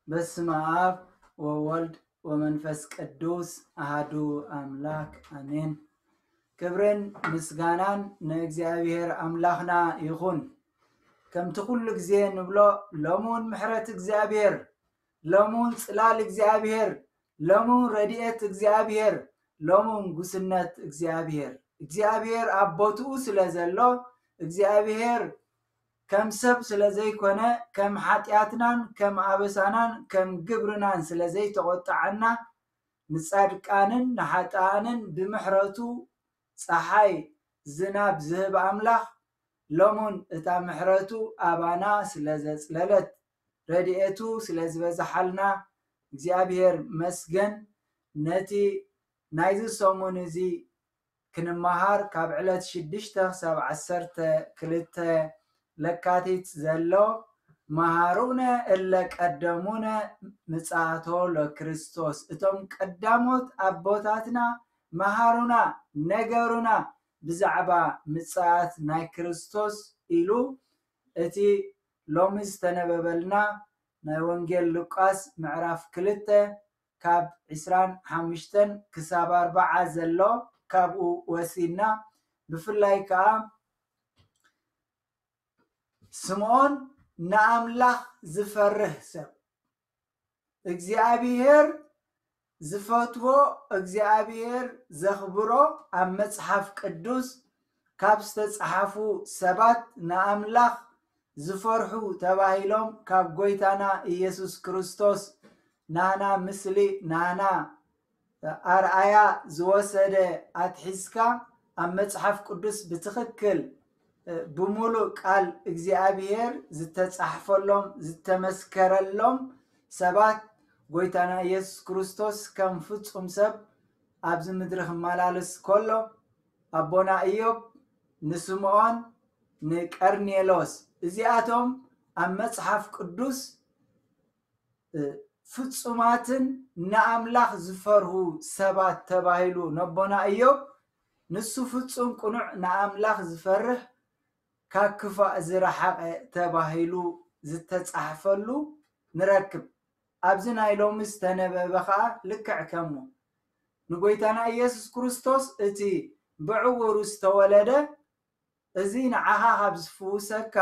በስመ አብ ወወልድ ወመንፈስ ቅዱስ አሃዱ አምላክ አሜን። ክብርን ምስጋናን ንእግዚኣብሔር ኣምላኽና ይኹን። ከምቲ ኩሉ ግዜ ንብሎ፣ ሎሙን ምሕረት እግዚኣብሔር፣ ሎሙን ጽላል እግዚኣብሔር፣ ሎሙን ረድኤት እግዚኣብሔር፣ ሎሙን ጉስነት እግዚኣብሔር። እግዚኣብሔር ኣብ ቦትኡ ስለ ዘሎ፣ እግዚኣብሔር ከም ሰብ ስለ ዘይኮነ፣ ከም ሓጢኣትናን ከም ኣበሳናን ከም ግብርናን ስለ ዘይተቖጣዓና፣ ንጻድቃንን ንሓጥኣንን ብምሕረቱ ጸሓይ ዝናብ ዝህብ ኣምላኽ፣ ሎሙን እታ ምሕረቱ ኣባና ስለ ዘጽለለት፣ ረድኤቱ ስለ ዝበዝሓልና፣ እግዚኣብሔር መስገን። ነቲ ናይዚ ሰሙን እዚ ክንመሃር፣ ካብ ዕለት ሽዱሽተ ክሳብ ዓሰርተ ክልተ ለካቲት ዘሎ፣ መሃሩነ እለ ቀደሙነ ምጽኣቶ ለክርስቶስ፣ እቶም ቀዳሞት ኣቦታትና መሃሩና፣ ነገሩና ብዛዕባ ምጽኣት ናይ ክርስቶስ ኢሉ፣ እቲ ሎሚ ዝተነበበልና ናይ ወንጌል ሉቃስ ምዕራፍ ክልተ ካብ ዕስራን ሓሙሽተን ክሳብ ኣርባዓ ዘሎ፣ ካብኡ ወሲድና፣ ብፍላይ ከኣ ስምዖን ንኣምላኽ ዝፈርህ ሰብ፣ እግዚኣብሔር ዝፈትዎ፣ እግዚኣብሔር ዘኽብሮ፣ ኣብ መጽሓፍ ቅዱስ ካብ ዝተጻሕፉ ሰባት ንኣምላኽ ዝፈርሑ ተባሂሎም ካብ ጎይታና ኢየሱስ ክርስቶስ ናና ምስሊ፣ ናና ኣርኣያ ዝወሰደ ኣትሒዝካ፣ ኣብ መጽሓፍ ቅዱስ ብትኽክል፣ እ፣ ብምሉእ ቃል እግዚኣብሔር ዝተጻሕፈሎም፣ ዝተመስከረሎም ሰባት፣ ጎይታና ኢየሱስ ክርስቶስ ከም ፍጹም ሰብ ኣብዚ ምድሪ ክመላለስ ከሎ፣ ኣቦና ኢዮብ፣ ንስምዖን፣ ንቀርኔሎስ፣ እዚኣቶም ኣብ መጽሓፍ ቅዱስ፣ እ፣ ፍጹማትን ንኣምላኽ ዝፈርሁ ሰባት ተባሂሉ ነቦና ኢዮብ፣ ንሱ ፍጹም ቅኑዕ ንኣምላኽ ዝፈርህ፣ ካብ ክፋእ ዝረሓቐ ተባሂሉ ዝተጻሕፈሉ ንረክብ። ኣብዚ ናይ ሎሚ ዝተነበበ ኸኣ ልክዕ ከምኡ። ንጎይታና ኢየሱስ ክርስቶስ እቲ ብዕውሩ ዝተወለደ፣ እዚ ንዓኻ ካብ ዝፍውሰካ፣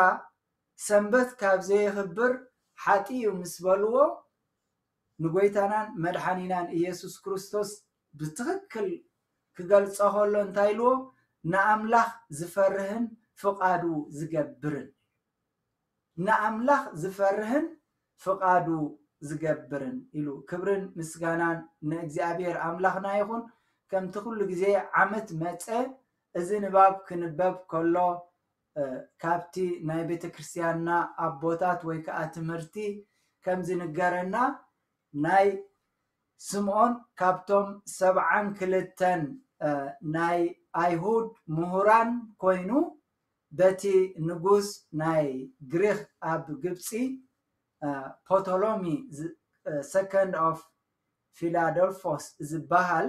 ሰንበት ካብ ዘየኽብር ሓጢ እዩ ምስ በልዎ፣ ንጎይታናን መድሓኒናን ኢየሱስ ክርስቶስ ብትኽክል ክገልጾ ከሎ እንታይ ኢልዎ? ንኣምላኽ ዝፈርህን ፍቓዱ ዝገብርን። ንኣምላኽ ዝፈርህን ፍቓዱ ዝገብርን ኢሉ። ክብርን ምስጋናን ንእግዚኣብሔር ኣምላኽና ይኹን። ከምቲ ኩሉ ግዜ ዓመት መጸ፣ እዚ ንባብ ክንበብ ከሎ፣ እ፣ ካብቲ ናይ ቤተ ክርስቲያንና ኣቦታት ወይ ከኣ ትምህርቲ ከም ዝንገረና፣ ናይ ስምዖን ካብቶም ሰብዓን ክልተን፣ እ፣ ናይ ኣይሁድ ምሁራን ኮይኑ፣ በቲ ንጉስ ናይ ግሪኽ ኣብ ግብጺ፣ እ፣ ፖቶሎሚ ዝ-፣ እ፣ ሰከንድ ኦፍ ፊላደልፎስ ዝበሃል፣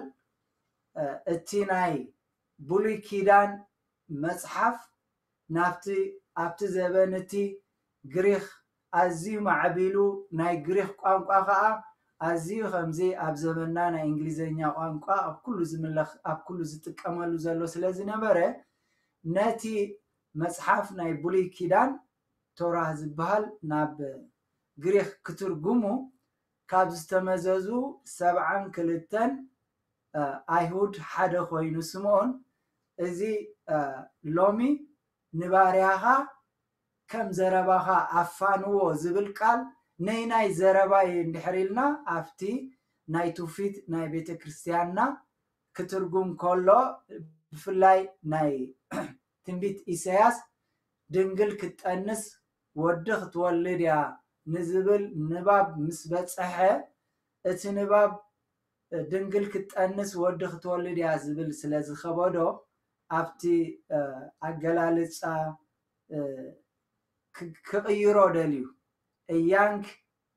እ፣ እቲ ናይ ብሉይ ኪዳን መጽሓፍ ናብቲ፣ ኣብቲ ዘበን እቲ ግሪኽ ኣዝዩ ማዕቢሉ፣ ናይ ግሪኽ ቋንቋ ኸኣ ኣዝዩ ከምዚ ኣብ ዘበንና ናይ እንግሊዘኛ ቋንቋ ኣብ ኩሉ ዝምለኽ፣ ኣብ ኩሉ ዝጥቀመሉ ዘሎ ስለ ዝነበረ፣ ነቲ መጽሓፍ ናይ ብሉይ ኪዳን ቶራ ዝበሃል ናብ ግሪኽ ክትርጉሙ ካብ ዝተመዘዙ ሰብዓን ክልተን፣ እ፣ ኣይሁድ ሓደ ኮይኑ ስምዖን፣ እዚ፣ እ፣ ሎሚ ንባርያኻ ከም ዘረባኻ ኣፋንዎ ዝብል ቃል ነይናይ ዘረባ እዩ እንድሕር ኢልና፣ ኣብቲ ናይ ትውፊት ናይ ቤተ ክርስቲያንና ክትርጉም ከሎ፣ ብፍላይ ናይ ትንቢት ኢሳያስ፣ ድንግል ክትጠንስ ወዲ ክትወልድ እያ ንዝብል ንባብ ምስ በጸሐ፣ እቲ ንባብ ድንግል ክትጠንስ ወዲ ክትወልድ እያ ዝብል ስለ ዝኸበዶ፣ ኣብቲ፣ እ፣ ኣገላልጻ፣ እ፣ ክ-፣ ክቕይሮ ደልዩ። A young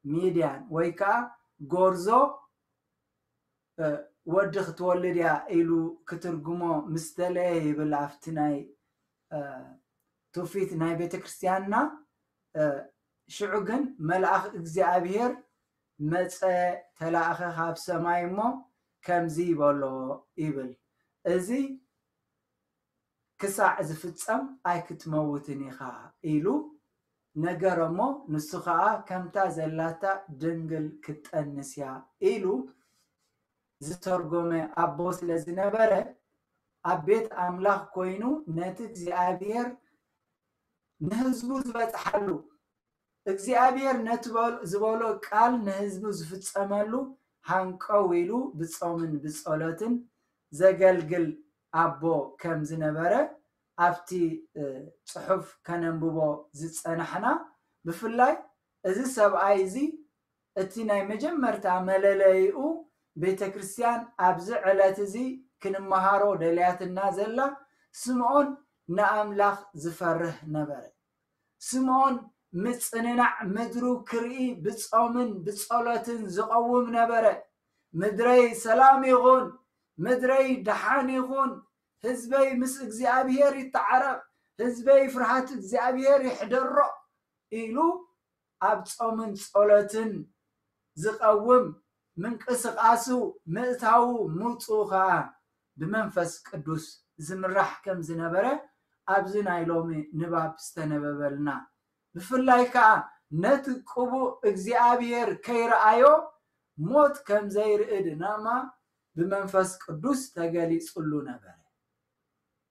Midian ወይ ከኣ ጎርዞ፣ እ፣ ወዲ ክትወልድ እያ ኢሉ ክትርጉሞ ምስ ደለየ ይብል ኣብቲ ናይ፣ እ፣ ትውፊት ናይ ቤተ ክርስቲያንና። እ፣ ሽዑ ግን መልኣኽ እግዚኣብሔር መጸ፣ ተላእኸ ካብ ሰማይ እሞ ከምዚ በሎ ይብል፣ እዚ ክሳዕ ዝፍጸም ኣይክትመውትን ኢኻ ኢሉ ነገረ እሞ፣ ንሱ ኸኣ ከምታ ዘላታ ድንግል ክትጠንስ እያ ኢሉ ዝተርጎመ ኣቦ ስለ ዝነበረ፣ ኣብ ቤት ኣምላኽ ኮይኑ ነቲ እግዚኣብሔር ንህዝቡ ዝበጽሓሉ፣ እግዚኣብሔር ነቲ ዝበሎ ቃል ንህዝቡ ዝፍጸመሉ ሃንቀው ኢሉ ብጾምን ብጸሎትን ዘገልግል ኣቦ ከም ዝነበረ ኣብቲ ጽሑፍ ከነንብቦ ዝጸናሕና። ብፍላይ እዚ ሰብኣይ እዚ እቲ ናይ መጀመርታ መለለይኡ ቤተ ክርስቲያን ኣብዚ ዕለት እዚ ክንመሃሮ ደልያትና ዘላ፣ ስምዖን ንኣምላኽ ዝፈርህ ነበረ። ስምዖን ምጽንናዕ ምድሩ ክርኢ ብጾምን ብጸሎትን ዝቐውም ነበረ። ምድረይ ሰላም ይኹን፣ ምድረይ ደሓን ይኹን፣ ህዝበይ ምስ እግዚኣብሔር ይተዓረቕ፣ ህዝበይ ፍርሃት እግዚኣብሔር ይሕደሮ ኢሉ ኣብ ጾምን ጸሎትን ዝቐውም ምንቅስቓሱ ምእታዉ ምውፅኡ ኸዓ ብመንፈስ ቅዱስ ዝምራሕ ከም ዝነበረ ኣብዚ ናይ ሎሚ ንባብ ዝተነበበልና። ብፍላይ ከዓ ነቲ ቅቡእ እግዚኣብሔር ከይረኣዮ ሞት ከም ዘይርኢ ድማ ብመንፈስ ቅዱስ ተገሊጹሉ ነበረ።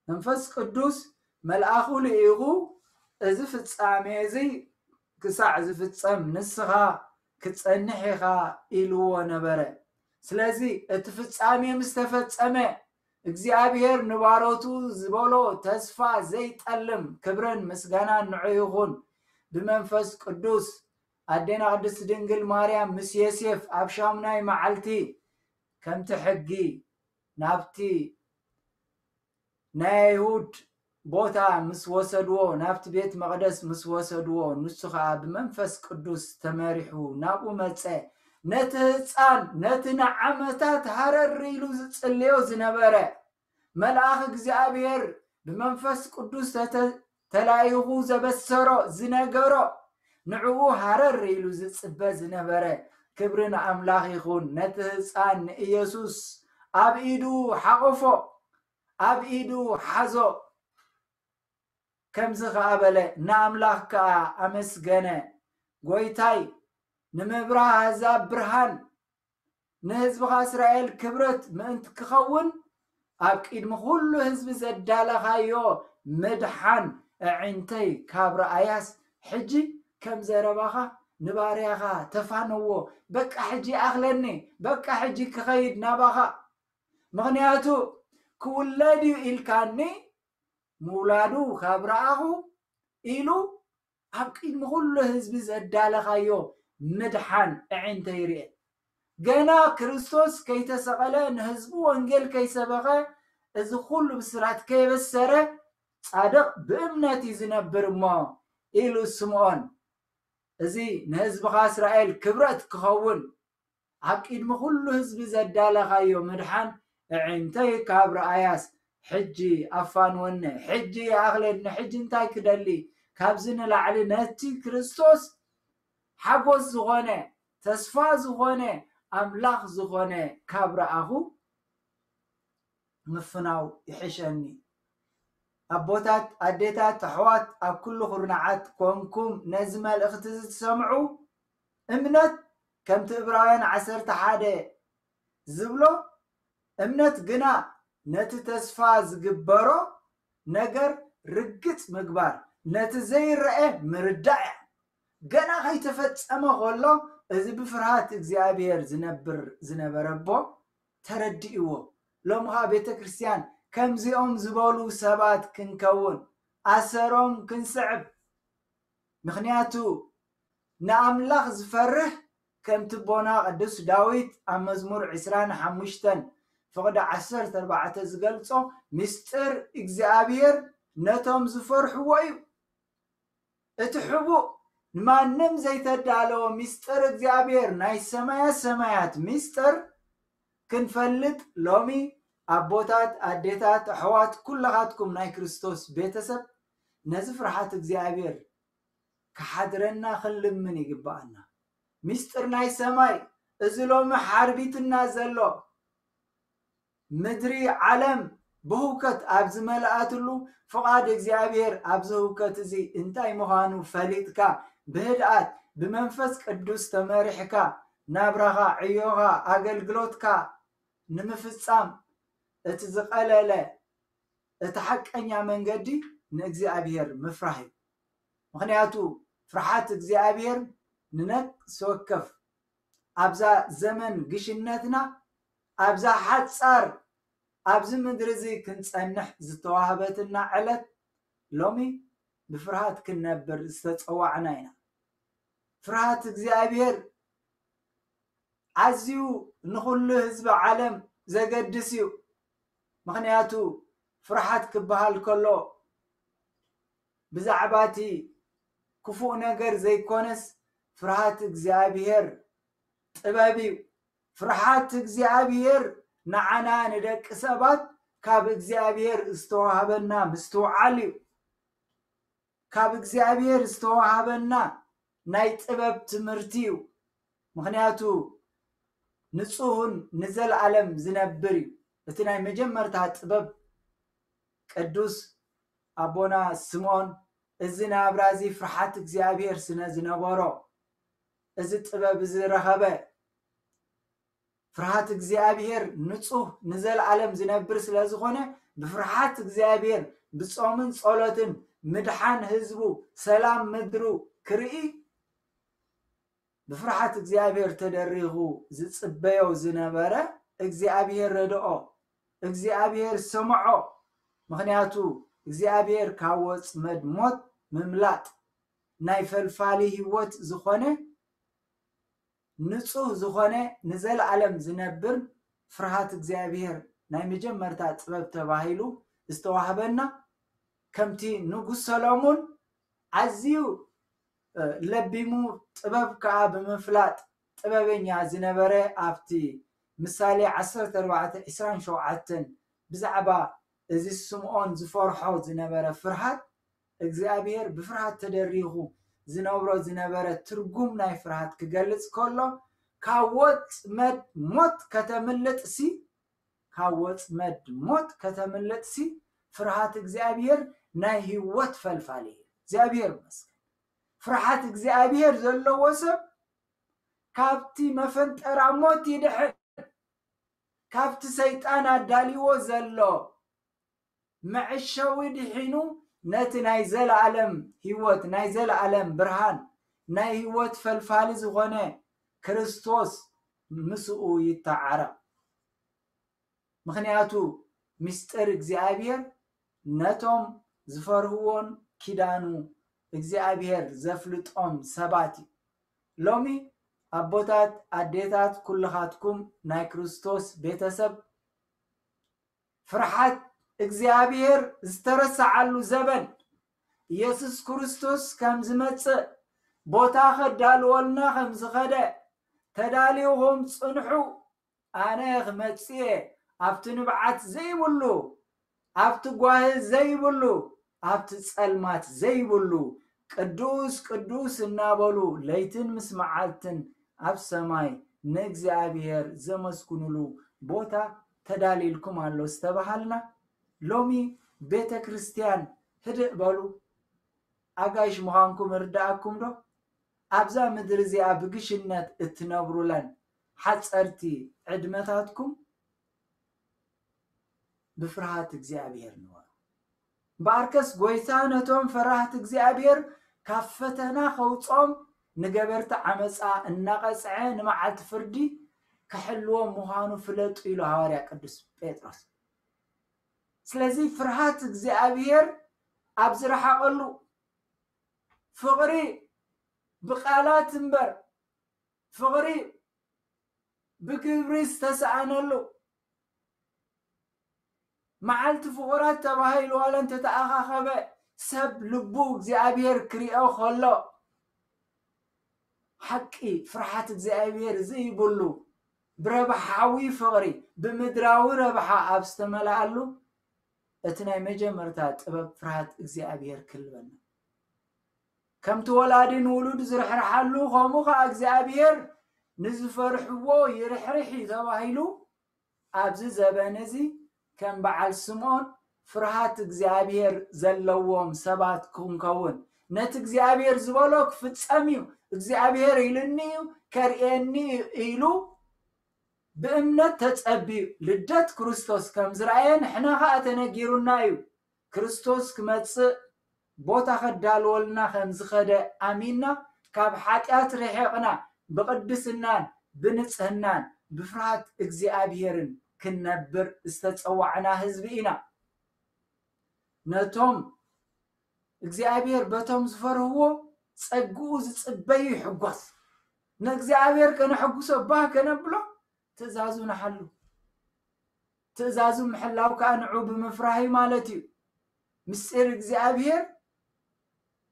መንፈስ ቅዱስ መልኣኹ ልኢኹ እዚ ፍጻሜ እዚ ክሳዕ ዝፍጸም ንስኻ ክትጸንሕ ኢኻ ኢልዎ ነበረ። ስለዚ እቲ ፍጻሜ ምስ ተፈጸመ እግዚኣብሔር ንባሮቱ ዝበሎ ተስፋ ዘይጠልም ክብርን ምስጋናን ንዑ ይኹን። ብመንፈስ ቅዱስ ኣዴና ቅድስት ድንግል ማርያም ምስ ዮሴፍ ኣብ ሻሙናይ መዓልቲ ከምቲ ሕጊ ናብቲ ናይ ኣይሁድ ቦታ ምስ ወሰድዎ፣ ናብቲ ቤት መቕደስ ምስ ወሰድዎ፣ ንሱ ኸዓ ብመንፈስ ቅዱስ ተመሪሑ ናብኡ መጸ። ነቲ ህፃን፣ ነቲ ንዓመታት ሃረር ኢሉ ዝጽልዮ ዝነበረ መልኣኽ እግዚኣብሔር ብመንፈስ ቅዱስ ተተ-፣ ተላኢኹ ዘበሰሮ፣ ዝነገሮ፣ ንዕኡ ሃረር ኢሉ ዝጽበ ዝነበረ፣ ክብሪ ንኣምላኽ ይኹን። ነቲ ህፃን ንኢየሱስ ኣብ ኢዱ ሓቖፎ፣ ኣብ ኢዱ ሓዞ። ከምዚ ኸዓ በለ፣ ንኣምላኽ ከኣ ኣመስገነ። ጎይታይ፣ ንምብራህ ኣህዛብ ብርሃን፣ ንህዝብኻ እስራኤል ክብረት ምእንቲ ክኸውን፣ ኣብ ቅድሚ ኩሉ ህዝቢ ዘዳለኻዮ ምድሓን ኣዒንተይ ካብ ረኣያስ፣ ሕጂ ከም ዘረባኻ ንባርያኻ ተፋነዎ። በቃ ሕጂ ኣኽለኒ፣ በቃ ሕጂ ክኸይድ ናባኻ። ምኽንያቱ ክውለድ እዩ ኢልካኒ፣ ምውላዱ ካብ ረኣኹ ኢሉ ኣብ ቅድሚ ኩሉ ህዝቢ ዘዳለኻዮ ምድሓን ኣዒንተይ ርኤ። ገና ክርስቶስ ከይተሰቐለ ንህዝቡ ወንጌል ከይሰበኸ እዚ ኩሉ ብስራት ከየበሰረ ጻድቕ ብእምነት እዩ ዝነብር እሞ ኢሉ ስምዖን። እዚ ንህዝብኻ እስራኤል ክብረት ክኸውን ኣብ ቅድሚ ኩሉ ህዝቢ ዘዳለኻዮ ምድሓን ኣዒንተይ ካብ ረኣያስ ሕጂ ኣፋንወኒ፣ ሕጂ ይኣኽለኒ፣ ሕጂ እንታይ ክደሊ? ካብዚ ንላዕሊ ነቲ ክርስቶስ ሓጎስ ዝኾነ፣ ተስፋ ዝኾነ፣ ኣምላኽ ዝኾነ ካብ ረኣኹ ምፍናው ይሕሸኒ። ኣቦታት፣ ኣዴታት፣ ኣሕዋት ኣብ ኩሉ ኩርናዓት ኮንኩም ነዚ መልእኽቲ እዚ ትሰምዑ፣ እምነት ከምቲ ዕብራውያን ዓሰርተ ሓደ ዝብሎ፣ እምነት ግና ነቲ ተስፋ ዝግበሮ ነገር ርግጽ ምግባር፣ ነቲ ዘይረአ ምርዳእ እያ። ገና ከይተፈጸመ ከሎ እዚ ብፍርሃት እግዚኣብሔር ዝነብር ዝነበረ ኣቦ ተረዲእዎ። ሎሚ ኸዓ ቤተ ክርስቲያን ከምዚኦም ዝበሉ ሰባት ክንከውን፣ ኣሰሮም ክንስዕብ። ምኽንያቱ ንኣምላኽ ዝፈርህ ከምቲ ኣቦና ቅዱስ ዳዊት ኣብ መዝሙር ዕስራን ሓሙሽተን ፍቕዲ ዓሰርተ ኣርባዕተ ዝገልጾ፣ ምስጢር እግዚኣብሔር ነቶም ዝፈርሕዎ እዩ። እቲ ሕቡእ ንማንም ዘይተዳለወ ምስጢር እግዚኣብሔር ናይ ሰማያ ሰማያት ምስጢር ክንፈልጥ ሎሚ ኣቦታት፣ ኣዴታት፣ ኣሕዋት ኩለኻትኩም ናይ ክርስቶስ ቤተሰብ ነዚ ፍርሃት እግዚኣብሔር ክሓድረና ክንልምን ይግብኣና። ምስጢር ናይ ሰማይ፣ እዚ ሎሚ ሓርቢትና ዘሎ ምድሪ ዓለም ብህውከት ኣብ ዝመልኣትሉ፣ ፍቓድ እግዚኣብሔር ኣብዚ ህውከት እዚ እንታይ ምዃኑ ፈሊጥካ፣ ብህድኣት ብመንፈስ ቅዱስ ተመሪሕካ፣ ናብራኻ፣ ዕዮኻ፣ ኣገልግሎትካ ንምፍጻም እቲ ዝቐለለ፣ እቲ ሓቀኛ መንገዲ ንእግዚኣብሔር ምፍራህ እዩ። ምኽንያቱ ፍርሓት እግዚኣብሔር ንነፍሲ ወከፍ ኣብዛ ዘመን ግሽነትና፣ ኣብዛ ሓጻር፣ ኣብዚ ምድሪ እዚ ክንጸንሕ ዝተዋህበትና ዕለት፣ ሎሚ ብፍርሃት ክንነብር ዝተጸዋዕና ኢና። ፍርሃት እግዚኣብሔር ኣዝዩ ንኹሉ ህዝቢ ዓለም ዘገድስ እዩ። ምኽንያቱ ፍርሃት ክበሃል ከሎ ብዛዕባ እቲ ክፉእ ነገር ዘይኮነስ፣ ፍርሃት እግዚኣብሔር ጥበብ እዩ። ፍርሃት እግዚኣብሔር ንዓና ንደቂ ሰባት ካብ እግዚኣብሔር ዝተዋህበና ምስትውዓል እዩ። ካብ እግዚኣብሔር ዝተዋህበና ናይ ጥበብ ትምህርቲ እዩ። ምኽንያቱ ንጹህን ንዘለኣለም ዝነብር እዩ። እቲ ናይ መጀመርታ ጥበብ ቅዱስ ኣቦና ስምዖን እዚ ናብራ እዚ ፍርሃት እግዚኣብሔር ስነ ዝነበሮ፣ እዚ ጥበብ እዚ ረኸበ። ፍርሃት እግዚኣብሔር ንጹህ ንዘለኣለም ዝነብር ስለ ዝኾነ፣ ብፍርሃት እግዚኣብሔር ብጾምን ጸሎትን ምድሓን ህዝቡ፣ ሰላም ምድሩ ክርኢ፣ ብፍርሃት እግዚኣብሔር ተደሪኹ ዝጽበዮ ዝነበረ እግዚኣብሔር ረድኦ፣ እግዚኣብሔር ሰምዖ። ምኽንያቱ እግዚኣብሔር ካብ ወጽመድ ሞት ምምላጥ ናይ ፈልፋሊ ህይወት ዝኾነ፣ ንጹህ ዝኾነ፣ ንዘለኣለም ዝነብር ፍርሃት እግዚኣብሔር ናይ መጀመርታ ጥበብ ተባሂሉ ዝተዋህበና፣ ከምቲ ንጉስ ሰሎሞን ኣዝዩ፣ እ፣ ለቢሙ ጥበብ ከኣ ብምፍላጥ ጥበበኛ ዝነበረ፣ ኣብቲ ምሳሌ ዓሰርተ ኣርባዕተ ዕስራን ሸውዓተን ብዛዕባ እዚ ስምዖን ዝፈርሖ ዝነበረ ፍርሃት፣ እግዚኣብሔር ብፍርሃት ተደሪኹ ዝነብሮ ዝነበረ ትርጉም ናይ ፍርሃት ክገልጽ ከሎ፣ ካብ ወጥመድ ሞት ከተምልጥሲ፣ ካብ ወጥመድ ሞት ከተምልጥሲ፣ ፍርሃት እግዚኣብሔር ናይ ህይወት ፈልፋሊ እዩ። እግዚኣብሔር ይመስገን። ፍርሃት እግዚኣብሔር ዘለዎ ሰብ ካብቲ መፈንጠራ ሞት ይድሕን። ካብቲ ሰይጣን ኣዳልይዎ ዘሎ መዐሸዊ ድሒኑ፣ ነቲ ናይ ዘለኣለም ህይወት፣ ናይ ዘለኣለም ብርሃን፣ ናይ ህይወት ፈልፋሊ ዝኾነ ክርስቶስ ምስኡ ይተዓረቕ። ምኽንያቱ ምስጢር እግዚኣብሔር ነቶም ዝፈርህዎን ኪዳኑ እግዚኣብሔር ዘፍልጦም ሰባት እዩ። ሎሚ ኣቦታት፣ ኣዴታት፣ ኩልኻትኩም ናይ ክርስቶስ ቤተሰብ፣ ፍርሓት እግዚኣብሔር ዝተረስዓሉ ዘበን፣ ኢየሱስ ክርስቶስ ከም ዝመጽእ፣ ቦታ ከዳልወልና ከም ዝኸደ፣ ተዳሊኹም ጽንሑ፣ ኣነ ክመጽእ እየ፣ ኣብቲ ንብዓት ዘይብሉ፣ ኣብቲ ጓሂ ዘይብሉ፣ ኣብቲ ጸልማት ዘይብሉ፣ ቅዱስ ቅዱስ እናበሉ ለይትን ምስ መዓልትን ኣብ ሰማይ ንእግዚኣብሔር ዘመስግኑሉ ቦታ ተዳልይልኩም ኣሎ ዝተባሃልና፣ ሎሚ ቤተ ክርስቲያን ህድእ በሉ፣ ኣጋይሽ ምዃንኩም እርድኣኩም ዶ? ኣብዛ ምድሪ እዚኣ ብግሽነት እትነብሩለን ሓጸርቲ ዕድመታትኩም ብፍርሃት እግዚኣብሔር ንበሩ። እምበኣርከስ ጐይታ ነቶም ፈራህቲ እግዚኣብሔር ካብ ፈተና ከውጽኦም፣ ንገበርቲ ዓመጻ እናቐጽዐ ንመዓልቲ ፍርዲ ክሕልዎም ምዃኑ ፍለጡ ኢሉ ሃዋርያ ቅዱስ ጴጥሮስ። ስለዚ ፍርሃት እግዚኣብሔር ኣብ ዝረሓቐሉ፣ ፍቕሪ ብቃላት እምበር ፍቕሪ ብግብሪ ዝተሰኣነሉ፣ መዓልቲ ፍቑራት ተባሂሉ ዋላ እንተተኣኻኸበ፣ ሰብ ልቡ እግዚኣብሔር ክሪኦ ከሎ፣ ሓቂ ፍርሓት እግዚኣብሔር ዘይብሉ፣ ብረብሓዊ ፍቕሪ፣ ብምድራዊ ረብሓ ኣብ ዝተመልኣሉ፣ እቲ ናይ መጀመርታ ጥበብ ፍርሃት እግዚኣብሔር ክህልወና። ከምቲ ወላዲ ንውሉድ ዝርሕርሓሉ፣ ከምኡ ኸዓ እግዚኣብሔር ንዝፈርሕዎ ይርሕርሕ እዩ ተባሂሉ። ኣብዚ ዘበን እዚ ከም በዓል ስምዖን ፍርሃት እግዚኣብሔር ዘለዎም ሰባት ክንከውን፣ ነቲ እግዚኣብሔር ዝበሎ ክፍጸም እዩ፣ እግዚኣብሔር ኢሉኒ እዩ፣ ከርእየኒ እዩ ኢሉ ብእምነት ተጸቢዩ ልደት ክርስቶስ ከም ዝረኣየ ንሕና ኸኣ ተነጊሩና እዩ። ክርስቶስ ክመጽእ ቦታ ከዳልወልና ከም ዝኸደ ኣሚንና፣ ካብ ሓጢኣት ርሒቕና፣ ብቕድስናን ብንጽህናን ብፍርሃት እግዚኣብሔርን ክንነብር ዝተጸዋዕና ህዝቢ ኢና። ነቶም እግዚኣብሔር በቶም ዝፈርህዎ ጸግኡ ዝጽበዩ ይሕጎስ። ንእግዚኣብሔር ከነሐጉሶ ባህ ከነብሎ ትእዛዙ ንሓሉ። ትእዛዙ ምሕላው ከኣ ንዑ ብምፍራህ እዩ ማለት እዩ። ምስጢር እግዚኣብሔር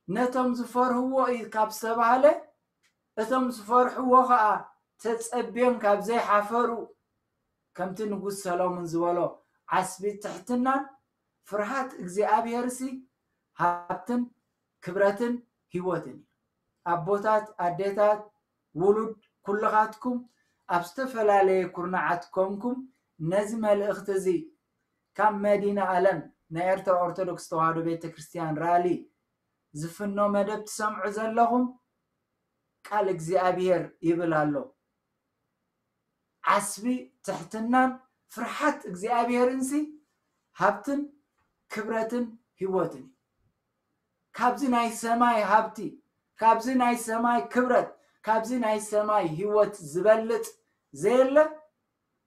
ነቶም ዝፈርህዎ እዩ ካብ ዝተባህለ፣ እቶም ዝፈርሕዎ ኸኣ ተጸብዮም ካብ ዘይሓፈሩ፣ ከምቲ ንጉስ ሰሎሞን ዝበሎ፣ ዓስቢ ትሕትናን ፍርሃት እግዚኣብሔርሲ ሃብትን ክብረትን ህይወትን እዩ። ኣቦታት፣ ኣዴታት፣ ውሉድ፣ ኩልኻትኩም ኣብ ዝተፈላለየ ኩርናዓት ኮንኩም ነዚ መልእኽቲ እዚ ካብ መዲና ኣለም ናይ ኤርትራ ኦርቶዶክስ ተዋህዶ ቤተ ክርስቲያን ራሊ ዝፍኖ መደብ ትሰምዑ ዘለኹም ቃል እግዚኣብሔር ይብል ኣሎ። ዓስቢ ትሕትናን ፍርሓት እግዚኣብሔርንሲ ሃብትን ክብረትን ህይወትን እዩ። ካብዚ ናይ ሰማይ ሃብቲ፣ ካብዚ ናይ ሰማይ ክብረት፣ ካብዚ ናይ ሰማይ ህይወት ዝበልጽ ዘየለ፣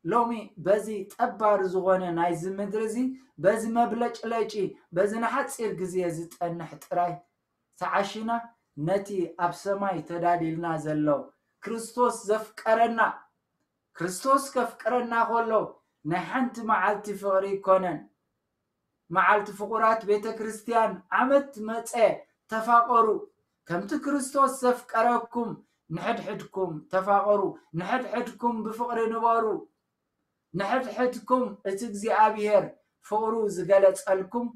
ሎሚ በዚ ጠባሪ ዝኾነ ናይዚ ምድሪ እዚ፣ በዚ መብለጭለጪ፣ በዚ ንሓጺር ግዜ ዝጠንሕ ጥራይ ተዓሺና፣ ነቲ ኣብ ሰማይ ተዳልዩልና ዘሎ ክርስቶስ ዘፍቀረና፣ ክርስቶስ ከፍቅረና ከሎ ናይ ሓንቲ መዓልቲ ፍቕሪ ኣይኮነን። መዓልቲ ፍቑራት ቤተ ክርስቲያን ዓመት መጸ፣ ተፋቐሩ፣ ከምቲ ክርስቶስ ዘፍቀረኩም ንሕድሕድኩም ተፋቐሩ፣ ንሕድሕድኩም ብፍቕሪ ንበሩ። ንሕድሕድኩም እቲ እግዚኣብሔር ፍቕሩ ዝገለጸልኩም፣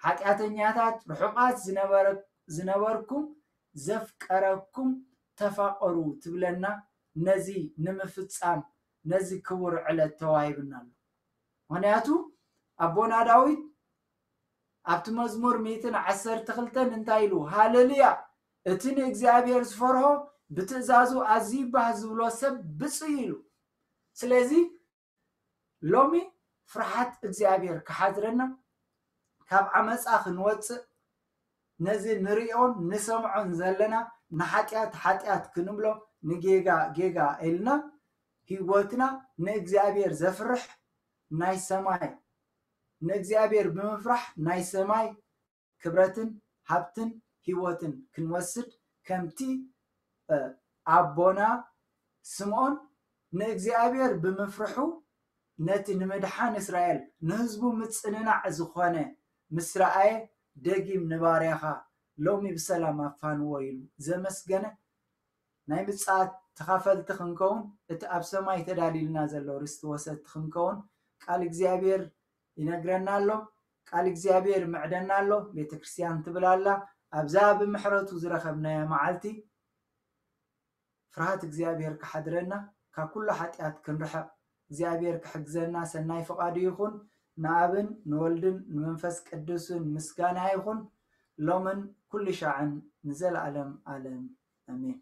ሓጢኣተኛታት ርሑቓት ዝነበረ-፣ ዝነበርኩም ዘፍቀረኩም ተፋቐሩ ትብለና። ነዚ ንምፍጻም ነዚ ክቡር ዕለት ተዋሂብና ኣሎ። ምኽንያቱ ኣቦና ዳዊት ኣብቲ መዝሙር ሚእትን ዓሰርተ ክልተን እንታይ ኢሉ? ሃሌሉያ! እቲ ንእግዚኣብሔር ዝፈርሆ ብትእዛዙ ኣዝዩ ባህ ዝብሎ ሰብ ብፁዕ እዩ ኢሉ። ስለዚ ሎሚ ፍርሓት እግዚኣብሔር ክሓድረና፣ ካብ ዓመፃ ክንወፅእ፣ ነዚ ንሪኦን ንሰምዖን ዘለና ንሓጢኣት ሓጢኣት ክንብሎ፣ ንጌጋ ጌጋ ኢልና ህይወትና ንእግዚኣብሔር ዘፍርሕ ናይ ሰማይ፣ ንእግዚኣብሔር ብምፍራሕ ናይ ሰማይ ክብረትን ሃብትን ህይወትን ክንወስድ፣ ከምቲ፣ እ፣ ኣቦና ስምዖን ንእግዚኣብሔር ብምፍርሑ ነቲ ንምድሓን እስራኤል ንህዝቡ ምጽንናዕ ዝኾነ ምስ ረኣየ፣ ደጊም ንባርያኻ ሎሚ ብሰላም ኣፋንዎ ኢሉ ዘመስገነ፣ ናይ ምጽኣት ተኻፈልቲ ክንከውን፣ እቲ ኣብ ሰማይ ተዳልዩልና ዘሎ ርስቲ ወሰድቲ ክንከውን ቃል እግዚኣብሔር ይነግረና ኣሎ። ቃል እግዚኣብሔር ይምዕደና ኣሎ። ቤተ ክርስቲያን ትብል ኣላ። ኣብዛ ብምሕረቱ ዝረኸብናያ መዓልቲ ፍርሃት እግዚኣብሔር ክሓድረና፣ ካብ ኩሉ ሓጢኣት ክንርሕቕ እግዚኣብሔር ክሕግዘና ሰናይ ፍቓዱ ይኹን። ንኣብን ንወልድን ንመንፈስ ቅዱስን ምስጋና ይኹን፣ ሎምን ኩሉ ሻዕን ንዘለኣለም ኣለም። ኣሜን።